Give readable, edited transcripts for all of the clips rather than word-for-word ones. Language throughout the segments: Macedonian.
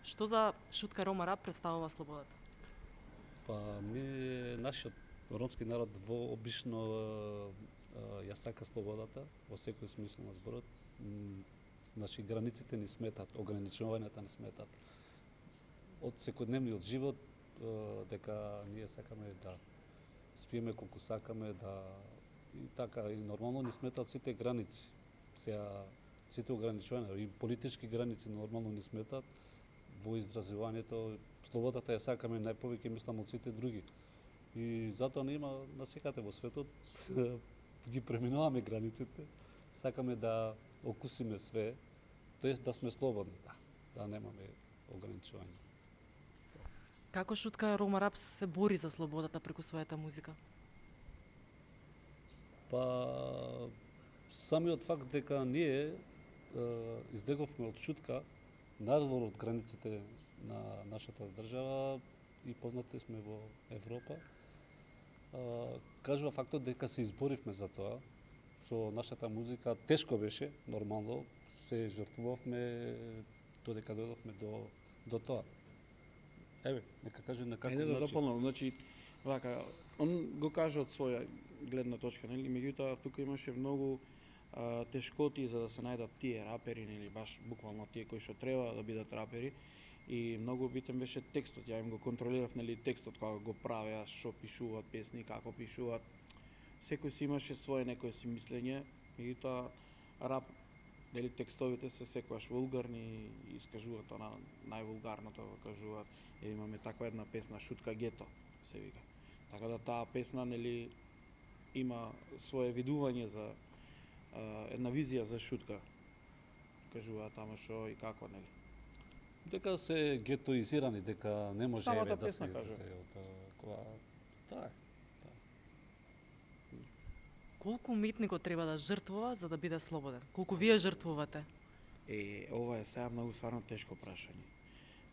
Што за Шутка Рома Рап представува слободата? Па нашиот ромски народ обично ја сака слободата во секој смисол на зборот. Значи границите ни сметат, ограничувањата ни сметат. Од секојдневниот живот дека ние сакаме да спиеме колку сакаме, да и така и нормално ни сметат сите граници. Сега сите ограничувања и политички граници нормално ни сметат во изразувањето. Слободата ја сакаме најповеќе, мислам, од сите други. И затоа не има насекаде во светот ги преминуваме границите, сакаме да окусиме све, тоест да сме слободни, да немаме ограничувања. Како Шутка Рома Рап се бори за слободата преку својата музика? Па самиот факт дека ние излеговме од Шутка надвор од границите на нашата држава и познати сме во Европа, кажува фактот дека се изборивме за тоа. Со нашата музика тешко беше, нормално, се жртвувавме додека дојдовме до тоа. Еве, нека каже на каков начин. Да дополнам, значи, вака, он го кажа од своја гледна точка, нели? Меѓутоа тука имаше многу тешкоти за да се најдат тие рапери, нели, баш буквално тие кои што треба да бидат рапери. И многу битен беше текстот, ја им го контролирав, нели, текстот кога го правеа, што пишуваат песни, како пишуваат. Секој си имаше свое некое си мислење, меѓутоа рап, нели, текстовите се секогаш вулгарни и искажуваат она највулгарното го кажуваат. Имаме таква една песна Шутка Гето се вика. Така да таа песна, нели, има свое видување за една визија за Шутка. Кажуваат тamo што и како, нели. Дека се гетоизирани, дека не може Самата да се кога да. Колку уметникот треба да жртвува за да биде слободен? Колку вие жртвувате? Ова е сега многу стварно тешко прашање.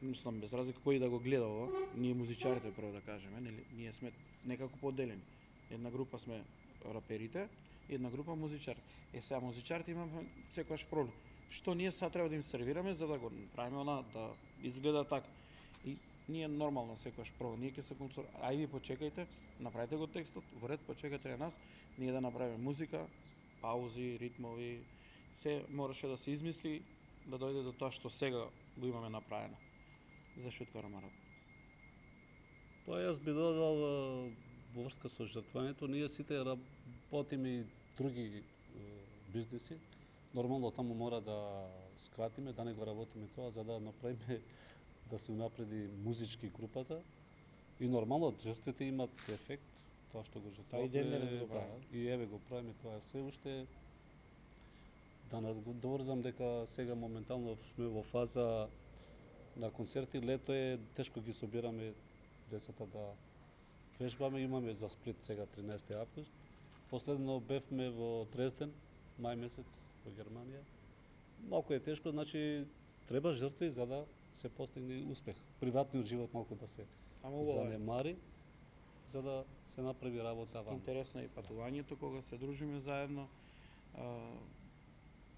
Мислам, без разлика кој да го гледа ова, ние музичарите прво да кажеме, нели, ние сме некако поделени. Една група сме раперите, една група музичари. Сега музичарите имаме секојаш проблем. Што ние сега треба да им сервираме за да го правиме она да изгледа така. И ние нормално секојаш прво, ние ќе се ај ви почекајте, направете го текстот, во ред почекајте на нас, ние да направиме музика, паузи, ритмови, се мораше да се измисли да дојде до тоа што сега го имаме направено за Шутка Рома Рап. Па јас би додал во врска со жртвањето, ние сите работиме и други бизниси. Нормално таму мора да скратиме, да не го работиме тоа, за да направиме да се унапреди музички групата. И нормално жртвите имат ефект, тоа што го жртвуваме. И еве го правиме тоа се уште. Да надврзам дека сега моментално сме во фаза на концерти, лето е тешко ги собираме децата да вежбаме, имаме за Сплит сега 13 август. Последно бевме во Дрезден, мај месец во Германија. Малку е тешко, значи треба жртви за да се постигне успех. Приватниот живот малку да се занемари, за да се направи работа ваму. Интересно е патувањето кога се дружиме заедно.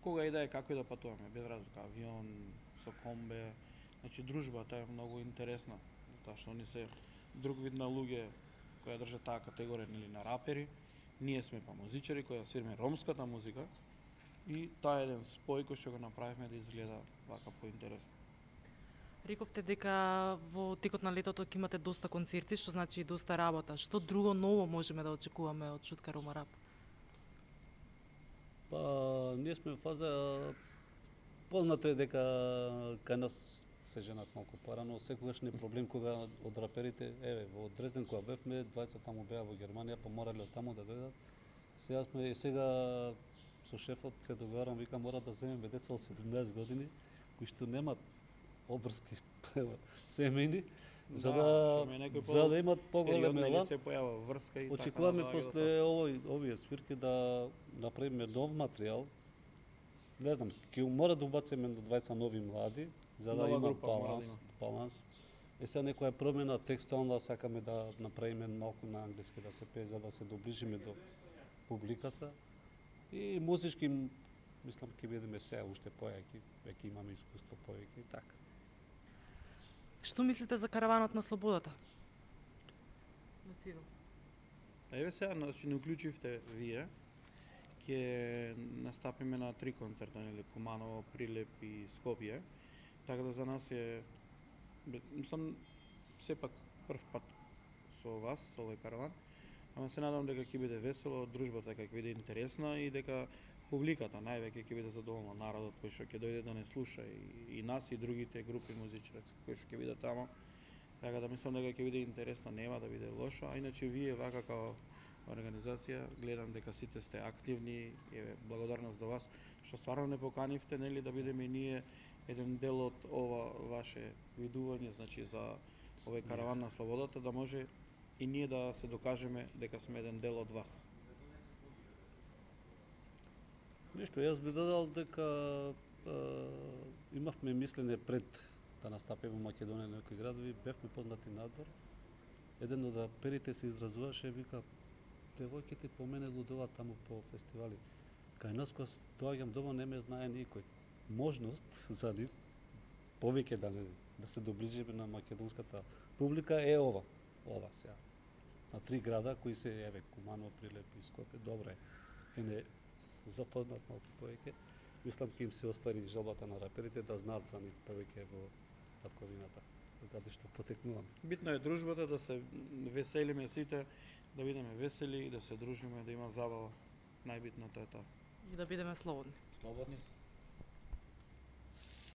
Кога и да е, како и да патуваме, без разлика, авион, со комбе. Значи дружбата е многу интересна, затоа што они се друг вид на луѓе кои држат таа категорија, нели, на рапери. Ние сме па музичари кои свириме ромската музика и тоа е еден спој кој што го направивме да изгледа вака поинтересно. Рековте дека во текот на летото ќе имате доста концерти, што значи и доста работа. Што друго ново можеме да очекуваме од Шутка Рома Рап? Па ние сме во фаза, познато е дека кај нас се женат малку порано, секогаш не е проблем кога од раперите, еве, во Дрезден кога бевме, 20 таму беа во Германија, па морале од таму да дојдат. Сега со шефот се договарам, викам мора да земеме деца од 17 години, кои што немат обврски семејни, за да имат поголем елан. Се појава врска и очекуваме после овие свирки да направиме нов материјал. Не знам, ќе мора да убациме до 20 нови млади, за да има баланс. Сега некоја промена текстуална сакаме да направиме малку на англиски да се пее, за да се доближиме до публиката. И музички, мислам, ќе бидеме сега уште појаки, веќе имаме искуство повеќе и така. Што мислите за караванот на слободата? На Цивил. Еве сега, значи не уклучивте вие. Ќе настапиме на 3 концерта, нели, Куманово, Прилеп и Скопје. Така да за нас е, мислам, сепак прв пат со вас, со овој караван. Ама се надам дека ќе биде весело, дружбата дека ќе биде интересна и дека публиката највеќе ќе биде задоволна, народот кој што ќе дојде да не слуша и нас и другите групи музичари кои што ќе бидат тамо. Така да мислам дека ќе биде интересно, нема да биде лошо, а иначе вие вака како организација гледам дека сите сте активни, еве благодарност до вас што стварно не поканивте, нели, да бидеме и ние еден дел од ова ваше видување, значи за овој караван на слободата, да може и ние да се докажеме дека сме еден дел од вас. Нешто, јас би додал дека имавме мислене пред да настапиме во Македонија некои градови, бевме познати надвор. Еден од раперите се изразуваше, вика, девојките по мене лудуваат таму по фестивали. Кај нас кога доаѓам дома не ме знае никој. Можност за нив повеќе да се доближиме на македонската публика е ова сега. На 3 града кои се еве Куманово, Прилеп и Скопје, добро е. Ке не запознат малку повеќе. Мислам ќе им се оствари желбата на раперите да знаат за нив повеќе во татковината, каде што потекнуваме. Битно е дружбата, да се веселиме сите, да бидеме весели, да се дружиме, да има забава. Најбитното е тоа. И да бидеме слободни. Слободни.